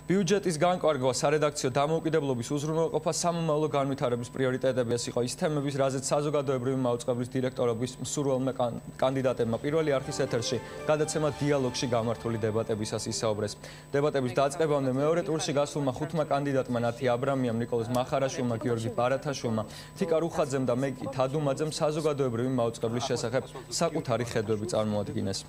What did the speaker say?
ბიუჯეტის განკარგვა, სარედაქციო დამოუკიდებლობის უზრუნველყოფა, სამომავლო განვითარების პრიორიტეტები ეს იყო ის თემების, რაზეც საზოგადოებრივი მაუწყებლის დირექტორობის მსურველმა კანდიდატებმა პირველი არხის ეთერში გადაცემა დიალოგში გამართული დებატებისას ისაუბრეს. დებატების დაწყებამდე მეორე ტურში გასულმა ხუთმა კანდიდატმა ნათი აბრამიამ, ნიკოლოზ მახარაშვილმა, გიორგი ბარათაშვილმა, თიკა რუხაძემ და მეგი თადუმაძემ საზოგადოებრივი მაუწყებლის შესახებ საკუთარი ხედვები წარმოადგინეს.